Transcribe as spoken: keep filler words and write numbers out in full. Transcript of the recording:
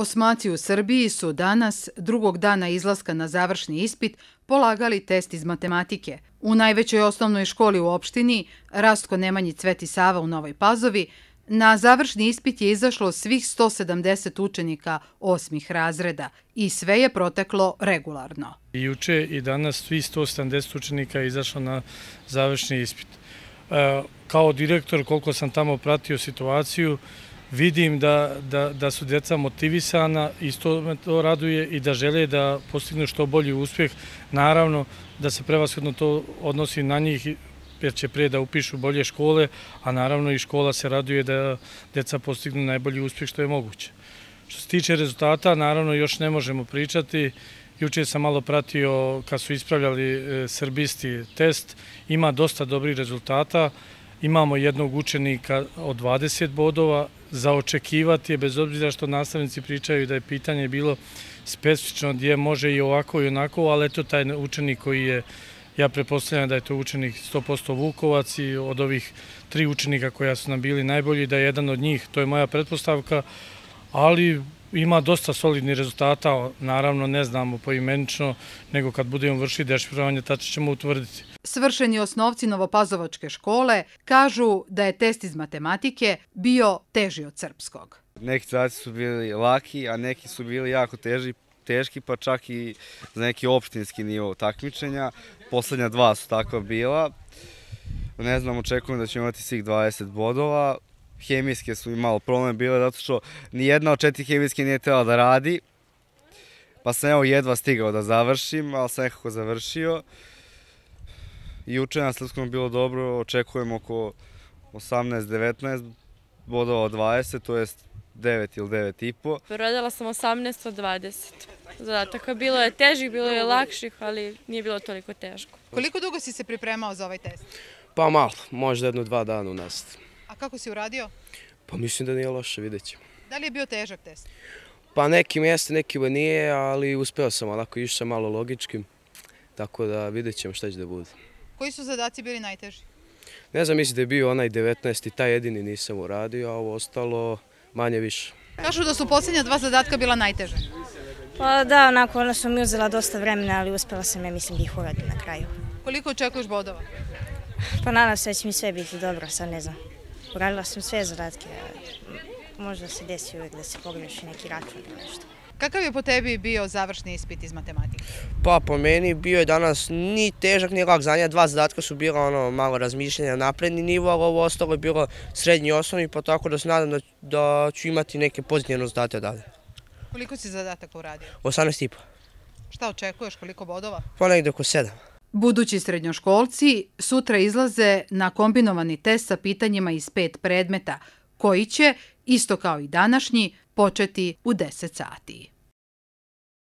Osmaci u Srbiji su danas, drugog dana izlaska na završni ispit, polagali test iz matematike. U najvećoj osnovnoj školi u opštini, Rastko Nemanji Cveti Sava u Novoj Pazovi, na završni ispit je izašlo svih sto sedamdeset učenika osmih razreda i sve je proteklo regularno. Juče i danas svi sto sedamdeset učenika je izašlo na završni ispit. E, kao direktor, koliko sam tamo pratio situaciju, vidim da, da, da su djeca motivisana, isto me to raduje i da žele da postignu što bolji uspjeh. Naravno da se prevashodno to odnosi na njih jer će prije da upišu bolje škole, a naravno i škola se raduje da djeca postignu najbolji uspjeh što je moguće. Što se tiče rezultata, naravno još ne možemo pričati. Juče sam malo pratio kad su ispravljali srbisti test, ima dosta dobrih rezultata. Imamo jednog učenika od dvadeset bodova, za očekivati je, bez obzira što nastavnici pričaju da je pitanje bilo specifično gdje može i ovako i onako, ali eto taj učenik koji je, ja pretpostavljam da je to učenik sto posto Vukovac i od ovih tri učenika koja su nam bili najbolji, da je jedan od njih, to je moja pretpostavka, ali ima dosta solidnih rezultata, naravno ne znamo poimenično, nego kad budemo vršiti dešifrovanje, tačno ćemo utvrditi. Svršeni osnovci Novopazovačke škole kažu da je test iz matematike bio teži od srpskog. Neki zadaci su bili laki, a neki su bili jako teži, teški, pa čak i za neki opštinski nivo takmičenja. Poslednja dva su takva bila. Ne znam, očekujem da ćemo imati svih dvadeset bodova. Hemijske su i malo problem bile, zato što nijedna od četiri hemijske nije trebala da radi. Pa sam evo jedva stigao da završim, ali sam nekako završio. Juče na srpskom bilo dobro, očekujem oko osamnaest devetnaest bodova od dvadeset, to je devet ili devet i po. Radila sam osamnaest od dvadeset. Zadataka bilo je težih, bilo je lakših, ali nije bilo toliko teško. Koliko dugo si se pripremao za ovaj test? Pa malo, možda jedno dva dana u nastavi. A kako si uradio? Pa mislim da nije loše, vidjet ćemo. Da li je bio težak test? Pa nekim jeste, nekima nije, ali uspeo sam, onako išao sam malo logičkim, tako da vidjet ćemo šta će da bude. Koji su zadaci bili najteži? Ne znam, mislim da je bio onaj devetnaesti, taj jedini nisam uradio, a ovo ostalo manje više. Kažu da su posljednja dva zadatka bila najteže. Pa da, onako, ona su mi uzela dosta vremena, ali uspela sam, ja mislim, da ih uradim na kraju. Koliko očekuješ bodova? Pa nadam se da će mi sve biti dobro, sad ne znam. Uradila sam sve zadatke, možda se desi uvijek da se pogreši neki račun ili nešto. Kakav je po tebi bio završni ispit iz matematike? Pa po meni bio je danas ni težak ni lak zadnja, dva zadatka su bila ono malo razmišljanja napredni nivo, ali ovo ostalo je bilo srednji osnovni, pa tako da se nadam da, da ću imati neke pozitivne rezultate dalje. Koliko si zadataka uradio? osamnaest i po. Šta očekuješ, koliko bodova? Pa negdje oko sedam. Budući srednjoškolci sutra izlaze na kombinovani test sa pitanjima iz pet predmeta, koji će, isto kao i današnji, početi u deset sati.